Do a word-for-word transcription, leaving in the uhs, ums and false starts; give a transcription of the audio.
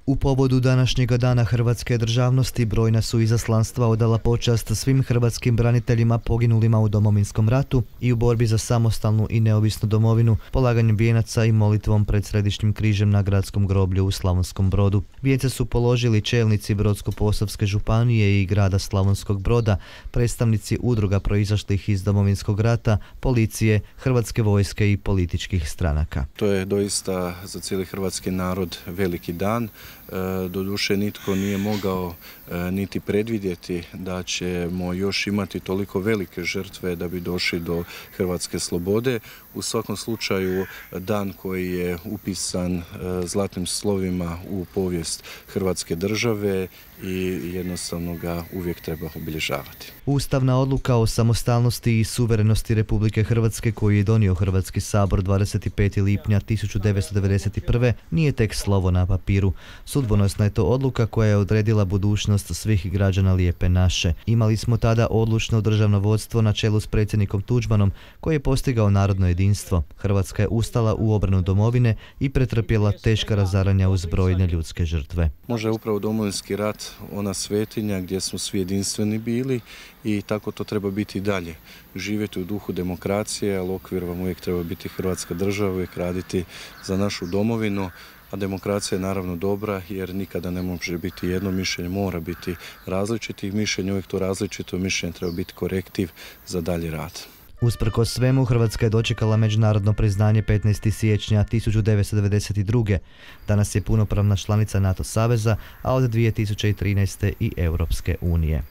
U povodu današnjega dana hrvatske državnosti brojna su izaslanstva odala počast svim hrvatskim braniteljima poginulima u Domovinskom ratu i u borbi za samostalnu i neovisnu domovinu, polaganjem vijenaca i molitvom pred Središnjim križem na gradskom groblju u Slavonskom Brodu. Vijence su položili čelnici Brodsko-posavske županije i grada Slavonskog Broda, predstavnici udruga proizašlih iz Domovinskog rata, policije, Hrvatske vojske i političkih stranaka. To je doista za cijeli hrvatski narod veliki dan. Doduše nitko nije mogao niti predvidjeti da ćemo još imati toliko velike žrtve da bi došli do hrvatske slobode. U svakom slučaju dan koji je upisan zlatnim slovima u povijest Hrvatske države i jednostavno ga uvijek treba obilježavati. Ustavna odluka o samostalnosti i suverenosti Republike Hrvatske koju je donio Hrvatski sabor dvadeset petog lipnja tisuću devetsto devedeset prve nije tek slovo na papiru. Sudbonosna je to odluka koja je odredila budućnost svih građana Lijepe naše. Imali smo tada odlučno državno vodstvo na čelu s predsjednikom Tuđmanom koji je postigao narodno jedinstvo. Hrvatska je ustala u obranu domovine i pretrpjela teška razaranja uz brojne ljudske žrtve. Može upravo Domovinski rat ona svetinja gdje smo svi jedinstveni bili i tako to treba biti i dalje. Živjeti u duhu demokracije, ali okvir vam uvijek treba biti Hrvatska država, uvijek raditi za našu domovinu. A demokracija je naravno dobra jer nikada ne može biti jedno mišljenje, mora biti različitih mišljenja, uvijek to različito mišljenje treba biti korektiv za dalji rad. Usprkos svemu, Hrvatska je dočekala međunarodno priznanje petnaestog siječnja tisuću devetsto devedeset druge. Danas je punopravna članica NATO saveza, a od dvije tisuće trinaeste i Europske unije.